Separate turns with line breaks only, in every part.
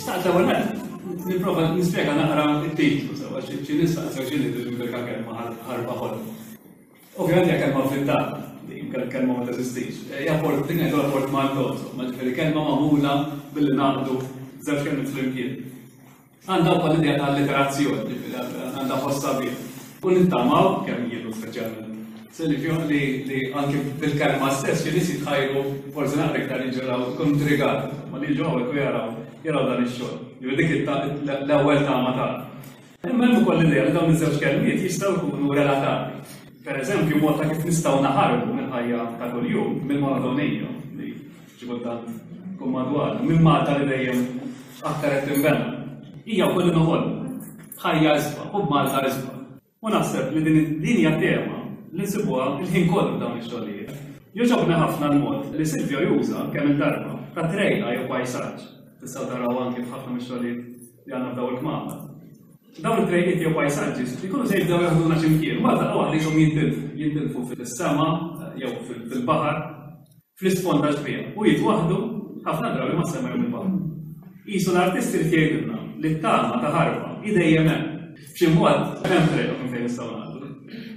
Xtaqt l-ewwel nett nipprova nispjega naqra t-titlu sewwa xi nies saqsew x'inhi din il-kelma ħarba ħolma. Ovvjament hija kelma vvintata, din kelma ma teżistix. Hija port din ngħidulha portmanteau, insomma, ġifieri kelma magħmula billi ngħaqqdu żewġ kelmiet flimkien. Għandha wkoll l-idea ta' alliterazzjoni, ġifieri għandha ħoss sabiħ. U nittamaw, kemm jien u speċjalment Silvio, li, li anke bil-kelma stess xi nies jitħajru forsi naqra iktar jiġu jaraw, ikunu intrigati, ma li jiġu hawnhekk u jaraw jaraw dan ix-xogħol. Ġifieri dik l-ewwel tama tagħna. Imma hemm ukoll l-idea li dawn iż-żewġ kelmiet jistgħu jkunu relatati. Per eżempju, mod ta' kif nistgħu naħarbu mill-ħajja ta' kuljum, mill-monotonija li xi kultant tkun madwarna, minn Malta li dejjem aktar qed tinbena. Hija wkoll li noħolmu ħajja isbaħ u b'Malta isbaħ. U naħseb li din din hija tema li nsibuha l-ħin kollu f'dawn ix-xogħlijiet. Jogħġobni ħafna l-mod li Silvio juża kemm il-darba ta' trejqa jew pajsaġġ. Tistgħu taraw anki f'ħafna mix-xogħlijiet li għandna f'daw il-kmamar. Dawn it-trejqiet jew pajsaġġi jkunu se jibdew jaħduna xi mkien, mbagħad daqqa waħda qishom jintilfu, jintilfu fis-sema jew fil-baħar, fl-isfond tax-xbieha u jitwaħħdu ħafna drabi mas-sema jew mill-baħar. Qisu l-artist irid jgħidilna li t-tama ta' ħarba hi dejjem hemm. B'xi mod hemm trejqa minn fejn nistgħu ngħaddu.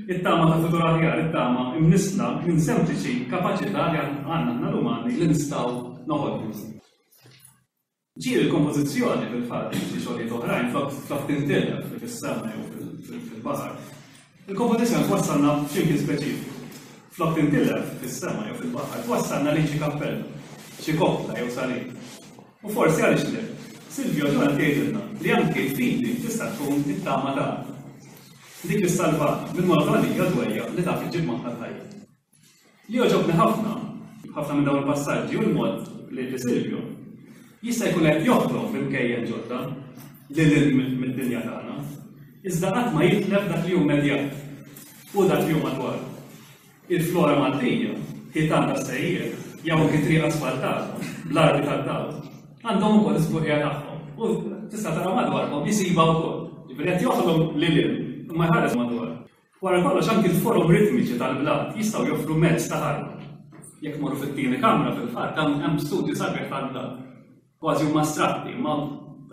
It-tama ta' futur aħjar, it-tama imnissla minn sempliċi kapaċità li għandna aħna l-umani li nistgħu noħolqu. Ġieli l-kompożizzjoni fil-fatt xi xogħlijiet oħrajn flok tintilef fis-sema jew fil-baħar. Il-kompożizzjoni twassalna f'ximkien speċifiku. Flok tintilef fis-sema jew fil-baħar, twassalna lejn xi kappella, xi koppla jew salib. U forsi għaliex le, Silvio Ġon qed jgħidilna li anki l-fidi tista' tkun it-tama tagħna. Dik li ssalvana mill-monotonija dwejjaq li taf iġġib magħha l-ħajja. Li jogħġobni ħafna, ħafna minn dawn il-passaġġi hu l-mod li li Silvio jista' jkun qed joħlom b'imkejjen ġodda lil hinn mid-dinja tagħna, iżda qatt ma jitlef dak li hu immedjat u dak li hu madwaru. Il-flora Maltija, ħitan tas-sejjieħ, jew anki triq asfaltata bl-arbi tad-dawl, għandhom ukoll is-sbuħija tagħhom u tista' tara madwarhom isibha wkoll. Jiġifieri qed joħlom lil hinn imma jħares madwaru. Wara kollox anki l-forom ritmiċi tal-blat jistgħu joffru mezz ta' ħarba. Jekk tmorru fit-tieni kamra fil-fatt hemm hemm studju sabiħ tal-blat. Kważi huma astratti, imma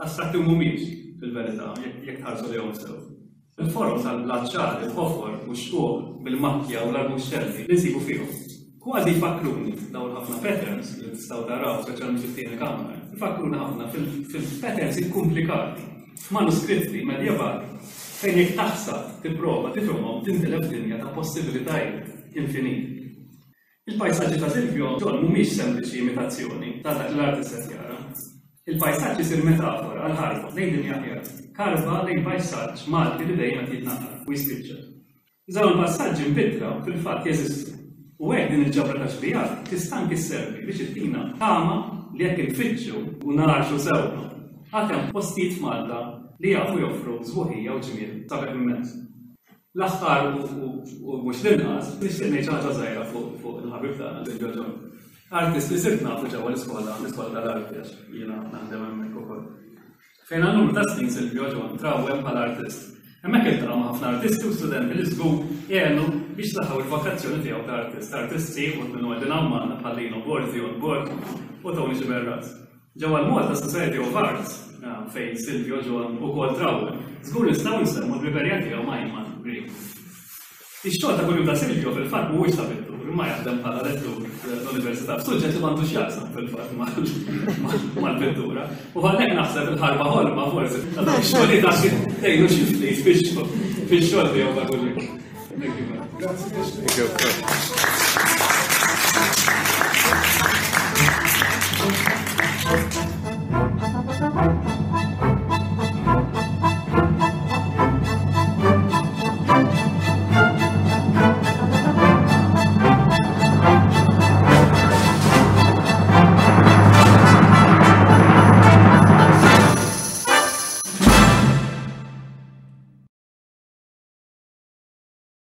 astratti mhumiex fil-verità jekk tħarsu lejhom sew. Il-forom tal-blat ċar, il-ħofor u x-xquq bil-makkja u l-arbuxxelli li nsibu fihom. Kważi jfakkruni dawn il-ħafna patterns li tistgħu taraw speċjalment fit-tieni kamra, jfakkruni ħafna fil-patterns ikkumplikati f'manuskritti medjevali fejn jekk taħsad tipprova tifhimhom tintilef f'dinja ta' possibilitajiet infiniti. Il-pajsaġġi ta' Silvio John mhumiex sempliċi imitazzjoni ta' dak li l-artist qed jara. Il-pajsaġġ isir metafora għal ħarba lejn dinja aħjar, karba lejn pajsaġġ Malti li dejjem qed jitnaqqar u jispiċċa. Dawn il-passaġġi mpittra fil-fatt jeżistu, u hekk din il-ġabra ta' xbigħat tista' anki sservi biex ittina tama li jekk infittxu u ngħarrxu sewwa, għad hemm postijiet f'Malta li jafu joffru sbuħija u ġmiel sabiħ immens. L-aħħar u mhux l-inqas, nixtieq ngħid xi ħaġa żgħira fuq il-ħabib tagħna Silvio John. Artist li sirt nafu ġewwa l-iskola, l-iskola tal-arti għax jiena naħdem hemmhekk ukoll. Fejn għal numru ta' snin Silvio John trawwem bħala artist. Hemmhekk iltaqa' ma' ħafna artisti u studenti li żgur għenu biex saħħaw il-vokazzjoni tiegħu ta' artist. Artisti uħud minnhom qegħdin hawn magħna bħal Lino Borg, Dion Borg u Tony Sciberras. Ġewwa l-Malta Society of Arts, fejn Silvio John ukoll trawwem, żgur nistgħu nsemmu l-ħbiberija tiegħu ma' Iman Green. Ix-xogħol ta' kuljum ta' Silvio fil-fatt mhuwiex ta' pittur, imma jaħdem bħala lettur l-università f'suġġett li m'għandux x'jaqsam fil-fatt mal-pittura. U għalhekk naħseb il-ħarba ħolma forsi ta' dawk ix-xogħlijiet għax tgħinu xi ftit fix-xogħol tiegħu ta' kuljum. Thank you.
Thank you.